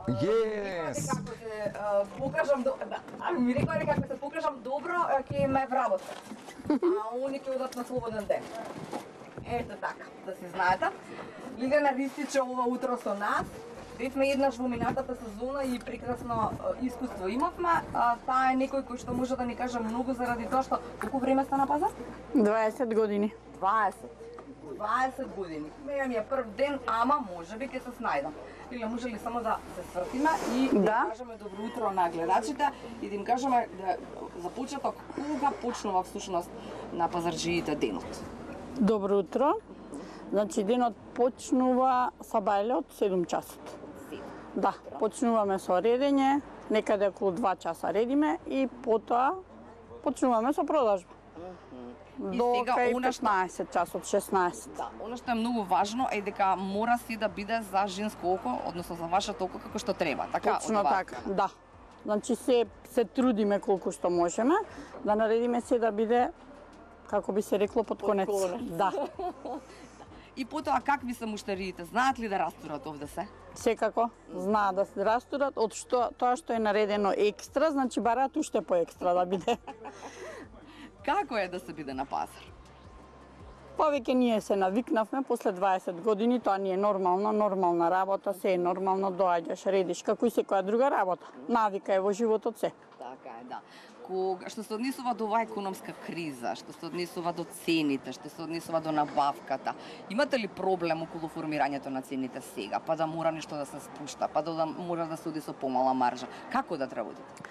Yes. Како се покажам ми рекоа како се покажам добро, ќе ме вработат. А они ќе одат на слободен ден. Ето така, да си знаете. Лиljana Ristić ова утро со нас. Бевме еднаш во минатата сезона и прекрасно искуство имавме. Таа е некој кој што може да ни каже многу заради тоа што колку време сте на пазар? 20 години. 20 години. Меја ми е прв ден, ама можеби ќе се снајдам. Или може ли само да се свртиме и да кажеме добро утро на гледачите и да им кажеме да за почеток кога почнува всушност на пазарџиите денот? Добро утро. Значи денот почнува сабајле од 7 часот. Да, почнуваме со редење, некаде околу 2 часа редиме и потоа почнуваме со продажба. До кај 15 часот, 16. Да, она што е многу важно е дека мора си да биде за женско око, односно за вашето око како што треба, така? Точно така, да. Значи се трудиме колку што можеме да наредиме се да биде, како би се рекло, под конец. Да. И потоа какви се муштариите? Знаат ли да растурат овде се? Секако, знаат да се растурат, од што тоа што е наредено екстра, значи бараат уште по екстра да биде. Како е да се биде на пазар? Повеќе ние се навикнавме после 20 години, тоа ни е нормална работа, се е нормално, доаѓаш, редиш, како и секоја друга работа. Навика е во животот се. Така е, да. Што се однесува до оваа економска криза, што се однесува до цените, што се однесува до набавката, имате ли проблем околу формирањето на цените сега, па да мора нешто да се спушта, па да мора да се оди со помала маржа? Како да работите?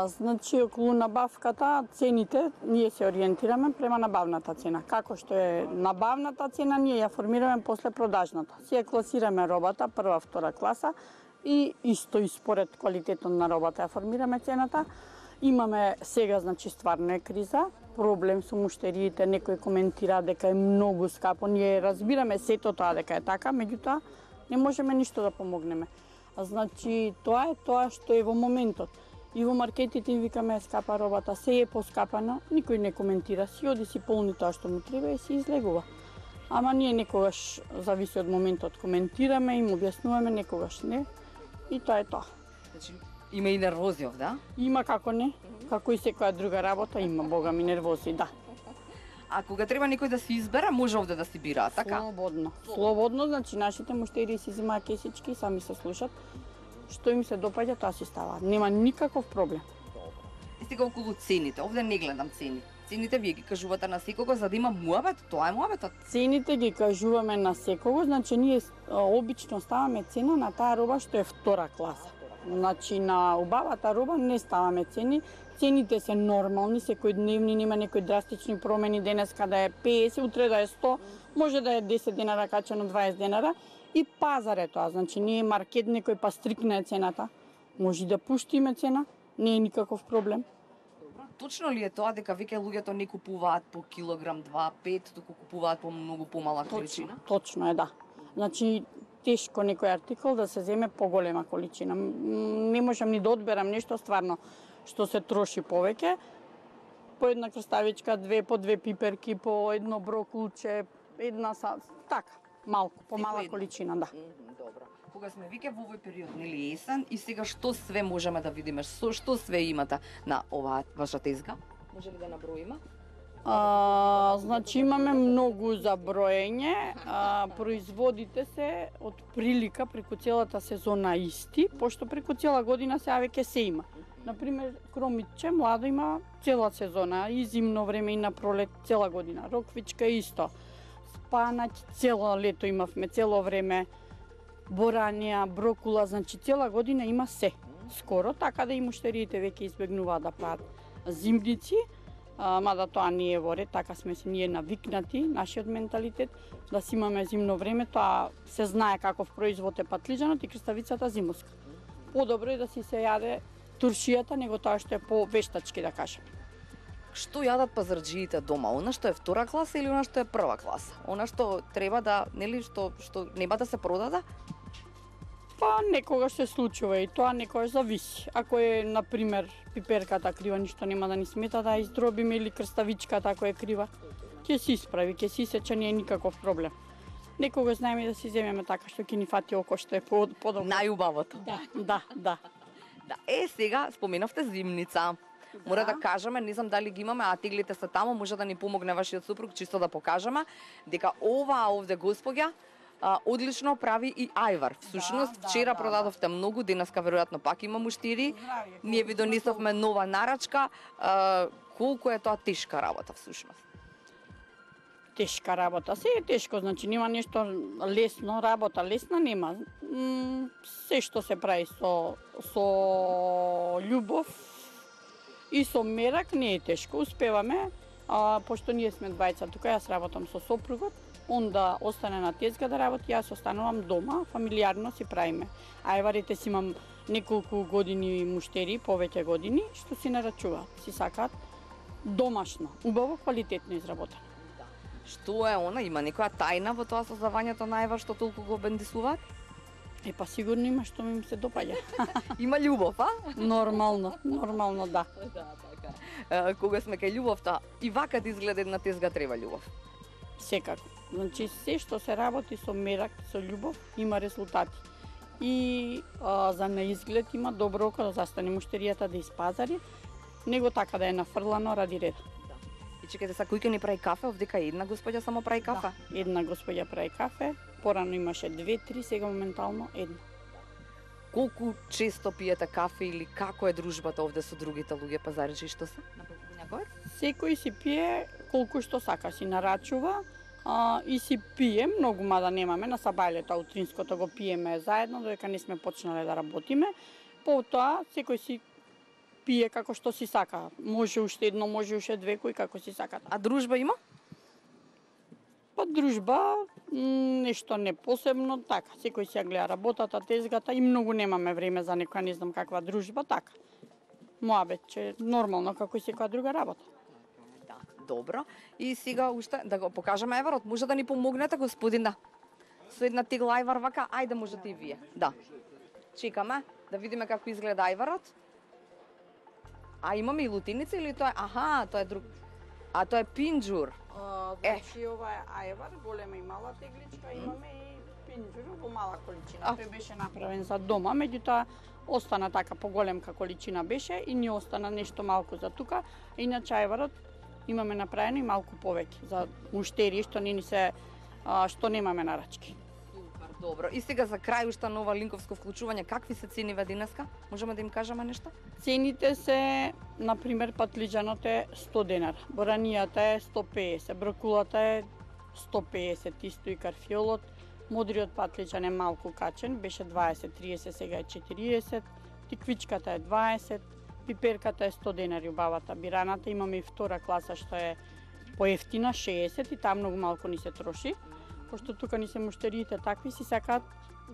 Значи, околу набавката, цените, ние се ориентираме према набавната цена. Како што е набавната цена, ние ја формираме после продажната. Си ја класираме робата, прва, втора класа, и исто и според квалитетот на робата ја формираме цената. Имаме сега, значи, стварно е криза, проблем со муштериите, некој коментира дека е многу скапо. Ние разбираме сето тоа дека е така, меѓутоа не можеме ништо да помогнеме. Значи, тоа е тоа што е во моментот. И во маркетите им викаме скапа робата, се е поскапано, никој не коментира, си оди си полни тоа што му треба и си излегува. Ама ние некогаш, зависи од моментот, коментираме, им објаснуваме, некогаш не. И тоа е тоа. Значи, има и нервози овде, Има, како не, како и секоја друга работа, има, бога ми, нервози, да. А кога треба некој да се избере, може овде да се бира, така? Слободно, значи нашите муштери си земаат кесички, сами се слушат. Што им се допаѓа, тоа си става. Нема никаков проблем. И сега околу цените, овде не гледам цени. Цените вие ги кажувате на секого за да има муабет, тоа е муабетот. Цените ги кажуваме на секого, значи ние обично ставаме цена на таа роба што е втора класа. Значи на убавата роба не ставаме цени. Цените се нормални, секојдневни, нема некои драстични промени, денес када е 50, утре да е 100, може да е 10 денара качено 20 денара. И пазар е тоа, значи не е маркет некој па стрикна е цената. Може да пуштиме цена, не е никаков проблем. Точно ли е тоа дека веќе луѓето не купуваат по килограм 2-5, туку купуваат по многу помала количина? Точно е, да. Значи тешко некој артикол да се земе поголема количина. Не можам ни да одберам нешто стварно што се троши повеќе. По една крставичка, по две пиперки, по едно брокулче, една така. Малку, помала количина, да. Добро. Кога сме веќе во овој период, нели есен, и сега што све можеме да видиме, што све имате на оваа ваша тезга? Може ли да наброиме? Значи имаме многу за броење, производите се од прилика преку целата сезона исти, пошто преку цела година сега веќе се има. Например, кромитче младо има цела сезона, и зимно време и на пролет цела година. Роквичка исто. Спанаќ цело лето имавме, цело време. Боранија, брокула, значи цела година има се. Скоро, така да и муштериите веќе избегнуваат да прават зимници, мада тоа не е во ред, така сме се ние навикнати, нашиот менталитет, да си имаме зимно време, тоа се знае каков производ е патлиџанот и крставицата зимоска. Подобро е да си се јаде туршијата, него тоа што е по-вештачки, да кажем. Што јадат пазарџиите дома? Она што е втора класа или она што е прва класа? Она што треба да, нели, што нема да се продаде? Па некогаш се случува и тоа некогаш зависи. Ако е, например, пиперката крива, ништо нема да ни смета да издробиме, или крставичката ако е крива, ќе се исправи, ќе се исече, не е никаков проблем. Некогаш знаеме да си земеме така што ќе ни фати око што е подобро. Најубавото. Да. Да, сега споменавте зимница. Мора да кажеме, не знам дали ги имаме, а теглите се таму, може да ни помогне вашиот супруг, чисто да покажеме, дека оваа овде господја одлично прави и ајвар. Всушност, вчера продадовте многу, денеска веројатно пак има муштири. Ние ви донесовме нова нарачка. Колку е тоа тешка работа всушност? Тешка работа. Се е тешко, значи нема нешто лесно, работа лесна нема. Се што се прави со љубов и со мерак не е тешко. Успеваме, пошто ние сме двајца тука, јас работам со сопругот, он да остане на тезга да работи, јас останувам дома, фамилиарно си правиме. Ајварите си имам неколку години муштери, повеќе години, што си нарачуваат, си сакаат домашно, убаво, квалитетно изработено. Што е она? Има некоја тајна во тоа создавањето на ајвар што толку го бендисуваат? Па сигурно има што ми се допаѓа. Има љубов, а? Нормално, да. Така. Кога сме кај љубовта, и вака да изгледа една тезга треба љубов. Секако. Значи, се што се работи со мерак, со љубов, има резултати. И за наизглед има добро око да застане муштеријата да испазари, него така да е нафрлано ради ред. И чекайте, са кој ќе ни прави кафе? Овдека една господја само прави кафе? Да, една господја прави кафе, порано имаше 2-3, сега моментално една. Колку често пиете кафе или како е дружбата овде со другите луѓе пазаричи што се? На Покупњаковец? Секој си пие колку што сака, си нарачува и си пие, многу мада немаме, на сабајлето утринското го пиеме заедно, додека не сме почнале да работиме. Потоа секој си пие како што си сака. Може уште едно, може уште две, кој како си сака. А дружба има? Па дружба, нешто не посебно, така. Секој си ја гледа работата, тезгата и многу немаме време за некоја не знам каква дружба, така. Моабет, че нормално како и секоја друга работа. Да, добро. И сега уште да го покажеме ајварот. Може да ни помогнете, господин, да. Со една тегла ајвар вака, ајде можете и вие. Да. Чекаме да видиме како изгледа ајварот. А имаме и лутиница или тоа е? Аха, тоа е друг. А тоа е пинџур. Значи ова е ајвар, голема и мала тегличка, имаме и пинџур во мала количина. Тој беше направен за дома, меѓутоа остана така поголемка количина беше и ни остана нешто малку за тука. Иначе ајварот имаме направено и малку повеќе за муштери што не ни се што немаме нарачки. Добро. И сега за крај уште нова линковско вклучување, какви се цениве денеска? Можеме да им кажеме нешто? Цените се, на пример, патлиџанот е 100 денара, боранијата е 150, брокулата е 150, исто и карфиолот. Модриот патлиџан е малку качен, беше 20-30, сега е 40, тиквичката е 20, пиперката е 100 денари убавата. Бираната имаме и втора класа што е поевтина, 60 и таа многу малку ни се троши. Пошто тука ни се муштериите такви, си сакаат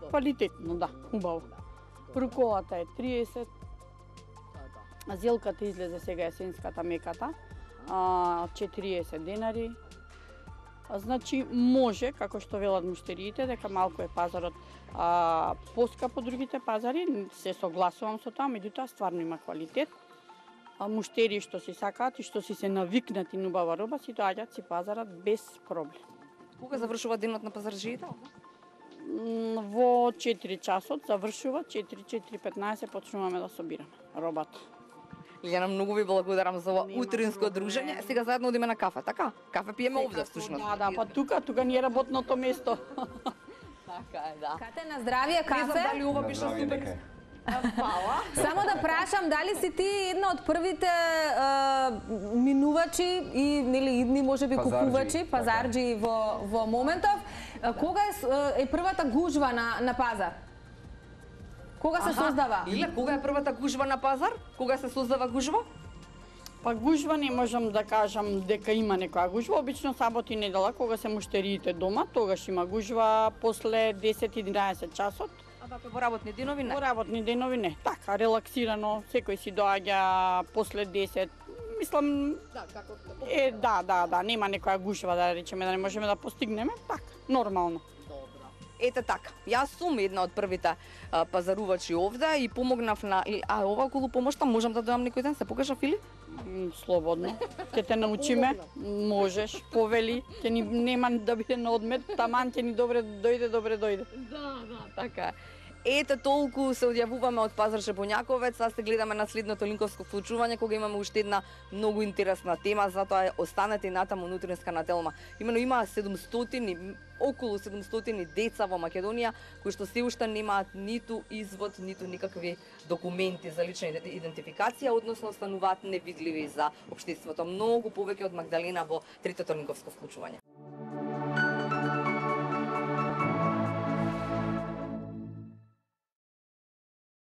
квалитетно, да, убаво. Бруколата е 30, зелката излезе сега есенската меката, 40 денари. Значи може, како што велат муштериите, дека малку е пазарот поскапо другите пазари, се согласувам со тоа, меѓутоа стварно има квалитет. Муштери што си сакаат и што си се навикнати на убава роба, си доаѓаат, си пазарат без проблем. Кога завршува денот на пазарджиите? Во 4 часот завршува, 4:15 почнуваме да собираме робата. Лиljana, многу ви благодарам за ова утринско дружење. Сега заедно одиме на кафе, така? Кафе пиеме овде всушност. Да, па тука ни е работното место. Така е, да. Кате, на здравие кафе. Не знам дали ова беше супер. Фала. Само да прашам, дали си ти една од првите минувачи и нели идни можеби купувачи, пазарџи во моментов, кога е првата гужва на пазар? Кога се создава? Лиле, кога е првата гужва на пазар? Кога се создава гужва? Па гужва не можам да кажам дека има некоја гужва, обично сабот и недела кога се муштериите дома, тогаш има гужва после 10-11 часот. А вака во работни денови не? Во работни денови не, така, релаксирано, секој си доаѓа после 10. Мислам, да, нема некоја гужва да речеме да не можеме да постигнеме, така, нормално. Добро. Ете така, јас сум една од првите пазарувачи овде и помогнав на... ова околу помошта можам да дојам некој ден, се покажа Фили? Слободно. Ќе те научиме, можеш, повели, ќе ни нема да биде на одмет, таман ќе ни добре дојде. Да, така. Ете толку се одјавуваме од Пазар Шепоњаковец, а се гледаме на следното линковско вклучување кога имаме уште една многу интересна тема, затоа останете и натаму внутринска на Телма. Имено има 700 околу 700 деца во Македонија кои што се уште немаат ниту извод, ниту никакви документи за лична идентификација, односно остануваат невидливи за општеството. Многу повеќе од Магдалена во третото линковско вклучување.